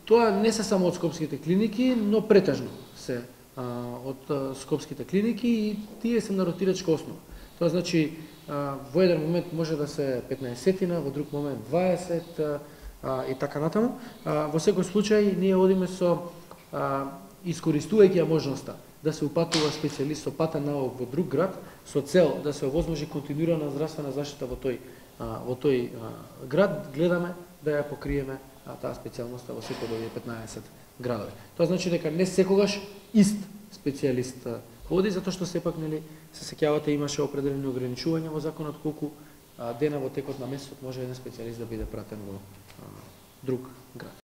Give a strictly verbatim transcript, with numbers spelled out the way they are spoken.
Тоа не се само од скопските клиники, но претежно се а, од а, скопските клиники и тие се на ротирачка основа. Тоа значи а, во еден момент може да се петнаесетина, во друг момент дваесет а, и така натаму. А, во секој случај ние одиме со а, искористувајќи ја можноста да се упатува специјалист со патен навик во друг град со цел да се овозможи континуирана здравствена заштита во тој а, во тој а, град, гледаме да ја покриеме а, таа специјалноста во секој од овие петнаесет градови. Тоа значи дека не секогаш ист специјалист оди, затоа што сепак нели се сеќавате имаше определени ограничувања во законот колку а, дена во текот на месецот може еден специјалист да биде пратен во а, друг град.